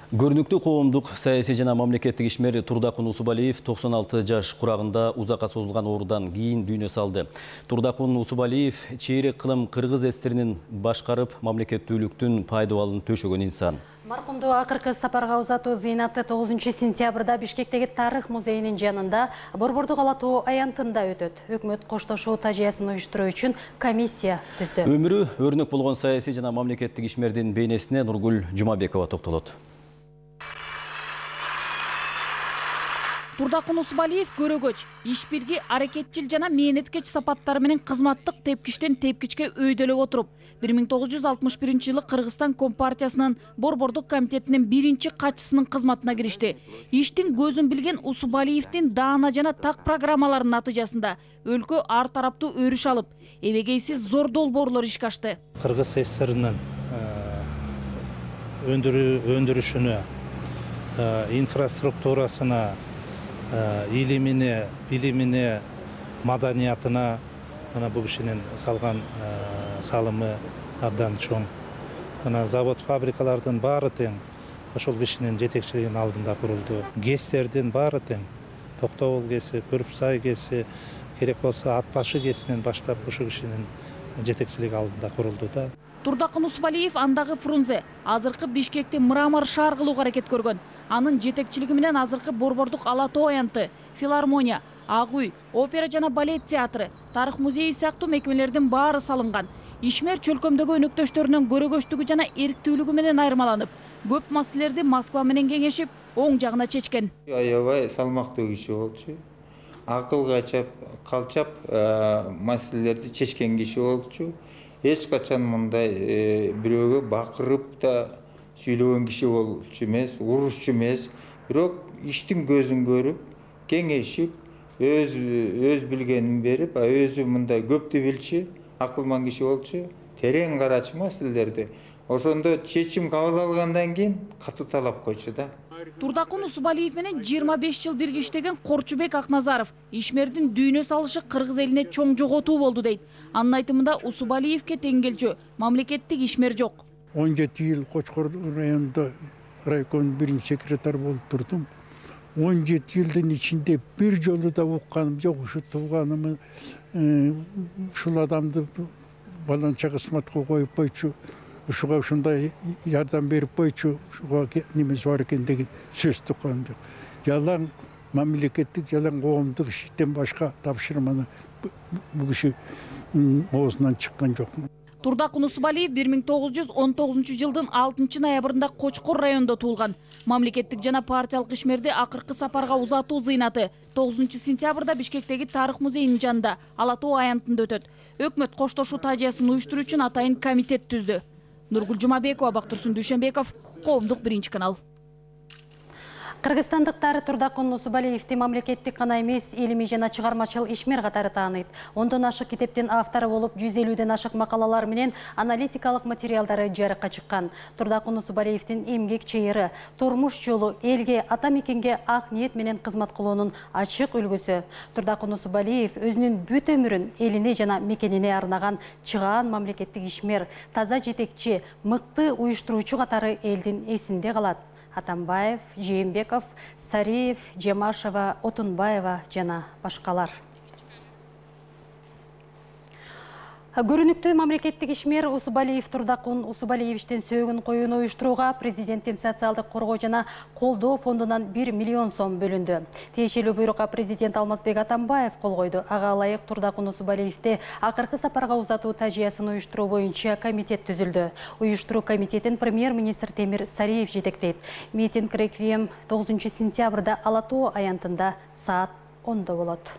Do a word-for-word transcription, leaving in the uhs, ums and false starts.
Көрүнүктүү коомдук саясий жана мамлекеттик ишмер Турдакун Усубалиев токсон алты жаш курагында узакка созулган оорудан кийин дүйнө салды. Турдакун Усубалиев чейрек кылым кыргыз эстеринин башкарып, мамлекеттүүлүктүн пайдабалын төшөгөн инсан. Маркумду акыркы сапарга узатуу зыйнаты тогузунчу сентябрда Бишкектеги Тарых музейинин жанында Борбордук ала тоо аянтында өтөт. Өкмөт коштошуу тажыясын уюштуруу үчүн комиссия түздү. Өмүрү өрнөк болгон саясий жана мамлекеттик ишмердин бейнесине Нургүл Жумабекова токтолот. Турдакун Усубалиев көрөгөч, ишбирги, аракетчил жана мээнеткеч сапаттары менен кызматтык тепкичтен тепкичке өйдөлөп отуруп, бир миң тогуз жүз алтымыш биринчи жылы Кыргызстан Компартиясынын Борбордук комитетинин биринчи катчысынын кызматына киришти. Иштин көзүн билген Усубалиевдин даана жана так программаларынын натыйжасында өлкө ар тараптуу өрүш алып, эбегейсиз зор долбоорлор ишке ашты. Кыргыз СССРинин өндүрүшүнө, инфраструктурасына, илимине, билимине, маданиятына мына бул кишинин салган салымы абдан чоң. Мына завод, фабрикалардын баары тең ошол кишинин жетекчилигинин алдында курулду. ГЭСтердин баары тең. Токтогул ГЭСи, Көрүпсай ГЭСи, керек болсо Ат башы ГЭСинен баштап ошол кишинин жетекчилиги алдында курулду да. Турдакун Усубалиев андагы Фрунзе, азыркы Бишкекти Мрамор шаар кылууга аракет көргөн. Анын жетекчилиги менен азыркы Борбордук ала тоо аянты, филармония, Ак үй, опера жана балет театры, Тарых музейи сыяктуу мекемелердин баары салынган. Ишмер чөлкөмдөгү өнөктөштөрүнүн көрөгөчтүгү жана эрктүүлүгү менен айырмаланып, көп маселелерди Москва менен кеңешип, оң жагына чечкен. Аябай салмактуу киши болчу. Акылга калчап маселелерди чечкен киши болчу. Эч качан мындай бирөөгө бакырып да сүйлөгөн киши болчу эмес, урушчу эмес. Бирок иштин көзүн көрүп, кеңешип, өз өз билгенин берип, өзү мындай көптү билчү, акылман киши болчу, терең карачу маселелерди. Ошондо чечим кабыл алгандан кийин катуу талап койчу да. Турдакун Усубалиев менен жыйырма беш жыл бирге иштеген Корчубек Акназаров ишмердин дүйнө салышы кыргыз элине чоң жоготуу болду дейт. Анын айтымында Усубалиевке тең келчү мамлекеттик ишмер жок. он жети жыл Кочкор районунда райком биринчи секретарь болуп турдум. он жети жылдын ичинде бир жолу да укканым жок. Ушу тууганымы ушул адамды баланча кызматка коюп койчу. Ушуга ушундай жардам берип койчу, ушуга немеси бар экен деген сөз тукканым жок. Жалаң мамлекеттик, жалаң коомдук иштен башка тапшырманы бул киши оозунан чыккан жок. Турдакун Усубалиев бир миң тогуз жүз он тогузунчу жылдын алтынчы ноябрында Кочкор районунда туулган. Мамлекеттик жана партиялык ишмерди акыркы сапарга узатуу зыйнаты тогузунчу сентябрда Бишкектеги Тарых музейинин жанында ала тоо аянтында өтөт. Өкмөт коштошуу тажыясын уюштуруу үчүн атайын комитет түздү. Нургүл Жумабекова, Бактурсун Дүйшөнбеков, Коомдук биринчи канал. Кыргызстандыктар Турдакун Усубалиевди мамлекеттик гана эмес, илимий жана чыгармачыл ишмер катары тааныйт. Ондон ашык китептин автору болуп, жүз элүүдөн ашык макалалар менен аналитикалык материалдары жарыкка чыккан. Турдакун Усубалиевдин эмгек чыйыры, турмуш жолу, элге, ата мекенге ак ниет менен кызмат кылуунун ачык үлгүсү. Турдакун Усубалиев өзүнүн бүт өмүрүн элине жана мекенине арнаган чыгаан мамлекеттик ишмер, таза жетекчи, мыкты уюштуруучу катары элдин эсинде калат. Атамбаев, Жээнбеков, Сариев, Жемашева, Отунбаева жана башкалар. Көрүнүктүү мамлекеттик ишмер Усубалиев Турдакун Усубалиевичтин сөөгүн коюуну уюштурууга президенттин социалдык коргоо жана колдоо фондунан бир миллион сом бөлүндү. Тиешелүү буйрукка президент Алмазбек Атамбаев кол койду. Ага ылайык Турдакун Усубалиевди акыркы сапарга узатуу тажыясын уюштуруу боюнча комитет түзүлдү. Уюштуруу комитетин премьер-министр Темир Сариев жетектейт. Митинг реквием тогузунчу сентябрда ала тоо аянтында саат ондо болот.